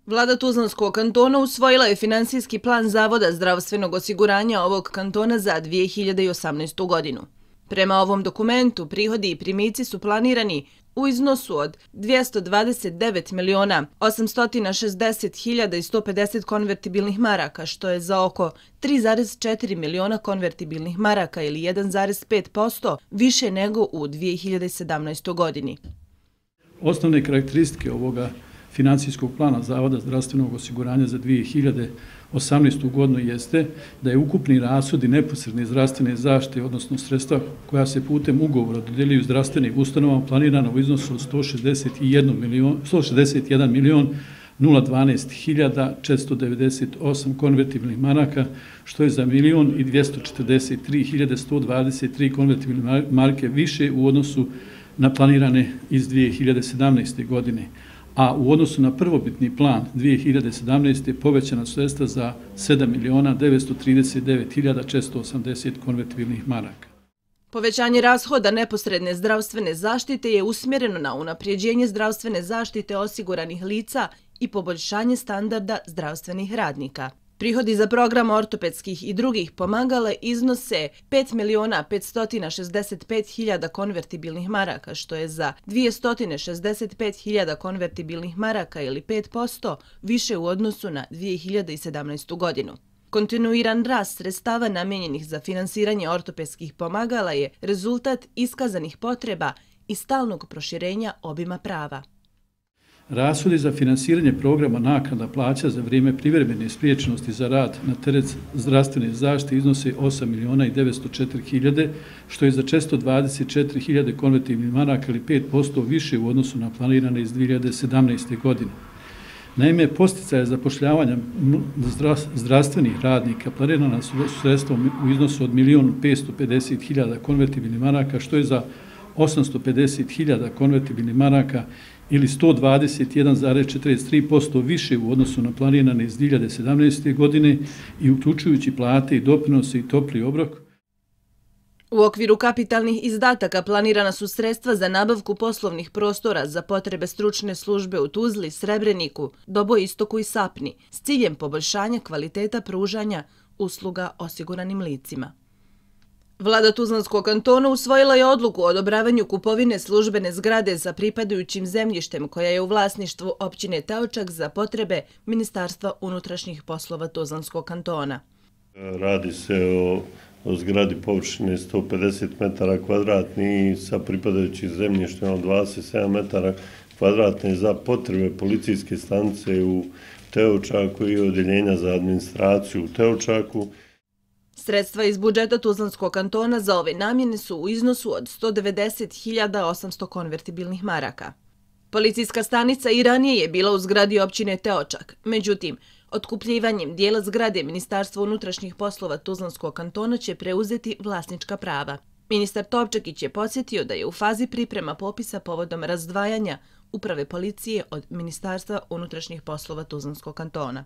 Vlada Tuzlanskog kantona usvojila je finansijski plan Zavoda zdravstvenog osiguranja ovog kantona za 2018. godinu. Prema ovom dokumentu, prihodi i primici su planirani u iznosu od 229.860.150 konvertibilnih maraka, što je za oko 3,4 miliona konvertibilnih maraka ili 1,5% više nego u 2017. godini. Osnovne karakteristike ovoga financijskog plana Zavoda zdravstvenog osiguranja za 2018. godinu jeste da je ukupni rashodi neposredne zdravstvene zaštite, odnosno sredstva koja se putem ugovora dodjeljuju zdravstvenim ustanovama, planirano u iznosu od 161 milion 012.498 konvertibilnih maraka, što je za 1.243.123 konvertibilne marke više u odnosu na planirane iz 2017. godine. A u odnosu na prvobitni plan 2017. povećana sredstva za 7.939.480 konvertibilnih maraka. Povećanje rashoda neposredne zdravstvene zaštite je usmjereno na unapređenje zdravstvene zaštite osiguranih lica i poboljšanje standarda zdravstvenih radnika. Prihodi za program ortopedskih i drugih pomagala iznose 5.565.000 konvertibilnih maraka, što je za 265.000 konvertibilnih maraka ili 5% više u odnosu na 2017. godinu. Kontinuiran rast sredstava namijenjenih za finansiranje ortopedskih pomagala je rezultat iskazanih potreba i stalnog proširenja obima prava. Rashodi za finansiranje programa naknada plaća za vrijeme privremene spriječenosti za rad na teret zdravstvene zaštite iznose 8.904.000, što je za 424.000 konvertibilnih maraka ili 5% više u odnosu na planirane iz 2017. godine. Naime, posticaje zapošljavanja zdravstvenih radnika planirana su sredstvom u iznosu od 1.550.000 konvertibilnih maraka, što je za 850.000 konvertibilnih maraka ili 121,43% više u odnosu na planirane iz 2017. godine i uključujući plate i doprinose i topli obrok. U okviru kapitalnih izdataka planirana su sredstva za nabavku poslovnih prostora za potrebe stručne službe u Tuzli, Srebreniku, Dobojistoku i Sapni s ciljem poboljšanja kvaliteta pružanja usluga osiguranim licima. Vlada Tuzlanskog kantona usvojila je odluku o odobravanju kupovine službene zgrade sa pripadajućim zemljištem koja je u vlasništvu općine Teočak za potrebe Ministarstva unutrašnjih poslova Tuzlanskog kantona. Radi se o zgradi površine 150 metara kvadratni sa pripadajućim zemljištem od 27 metara kvadratne za potrebe policijske stanice u Teočaku i odjeljenja za administraciju u Teočaku. Sredstva iz budžeta Tuzlanskog kantona za ove namjene su u iznosu od 190.800 konvertibilnih maraka. Policijska stanica i ranije je bila u zgradi općine Teočak, međutim, otkupljivanjem dijela zgrade Ministarstva unutrašnjih poslova Tuzlanskog kantona će preuzeti vlasnička prava. Ministar Topčakić je podsjetio da je u fazi priprema popisa povodom razdvajanja uprave policije od Ministarstva unutrašnjih poslova Tuzlanskog kantona.